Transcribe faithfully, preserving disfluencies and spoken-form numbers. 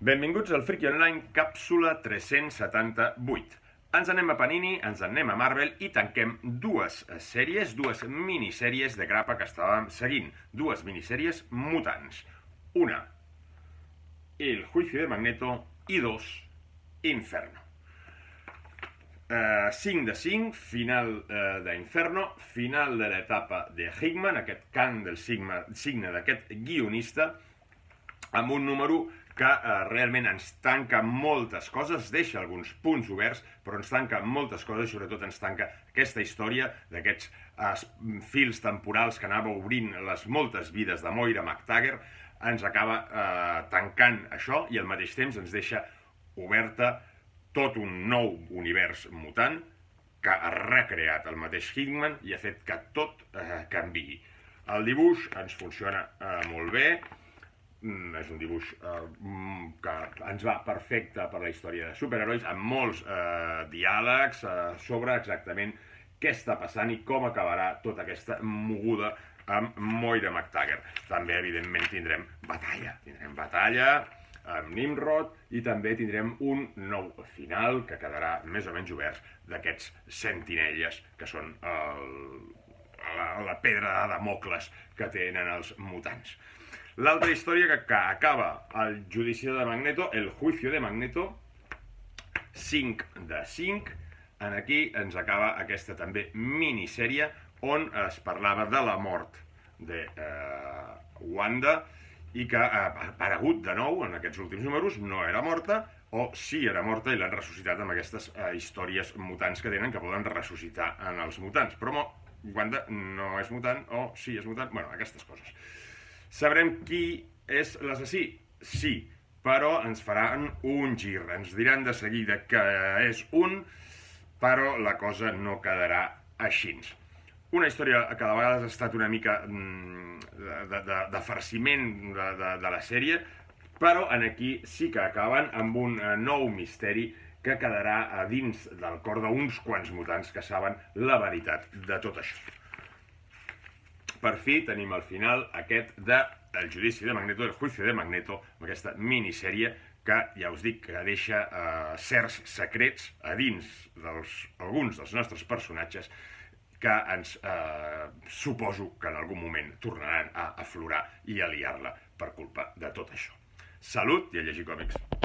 Benvinguts al Friki Online, càpsula tres-cents setanta-vuit. Ens anem a Panini, ens anem a Marvel i tanquem dues sèries, dues minissèries de grapa que estàvem seguint. Dues minissèries mutants. Una, El Juicio de Magneto, i dos, Inferno. Uh, cinc de cinc, final uh, d'Inferno, final de l'etapa de Hickman, aquest cant del sigma, signe d'aquest guionista, amb un número que eh, realment ens tanca moltes coses, deixa alguns punts oberts, però ens tanca moltes coses i sobretot ens tanca aquesta història d'aquests eh, fils temporals que anava obrint les moltes vides de Moira MacTaggert, ens acaba eh, tancant això i al mateix temps ens deixa oberta tot un nou univers mutant que ha recreat el mateix Hickman i ha fet que tot eh, canviï. El dibuix ens funciona eh, molt bé. Mm, és un dibuix eh, que ens va perfecte per la història de superherois, amb molts eh, diàlegs eh, sobre exactament què està passant i com acabarà tota aquesta moguda amb Moira MacTaggert. També, evidentment, tindrem batalla. Tindrem batalla amb Nimrod i també tindrem un nou final que quedarà més o menys obert d'aquests sentinelles que són el, la, la pedra de Damocles que tenen els mutants. L'altra història que, que acaba el judici de Magneto, El Juicio de Magneto, cinc de cinc, en aquí ens acaba aquesta també minissèrie on es parlava de la mort de eh, Wanda i que ha aparegut de nou en aquests últims números, no era morta, o sí era morta i l'han ressuscitat amb aquestes eh, històries mutants que tenen que poden ressuscitar en els mutants. Però Wanda no és mutant o sí és mutant, bueno, aquestes coses. Sabrem qui és l'assassí? Sí, però ens faran un gir. Ens diran de seguida que és un, però la cosa no quedarà així. Una història que de vegades ha estat una mica de, de, de farciment de, de, de la sèrie, però en aquí sí que acaben amb un nou misteri que quedarà a dins del cor d'uns quants mutants que saben la veritat de tot això. Per fi tenim al final aquest de El Judici de Magneto, El Juicio de Magneto, amb aquesta minissèrie que, ja us dic, que deixa eh, certs secrets a dins dels, alguns dels nostres personatges que ens eh, suposo que en algun moment tornaran a aflorar i a liar-la per culpa de tot això. Salut i a llegir còmics!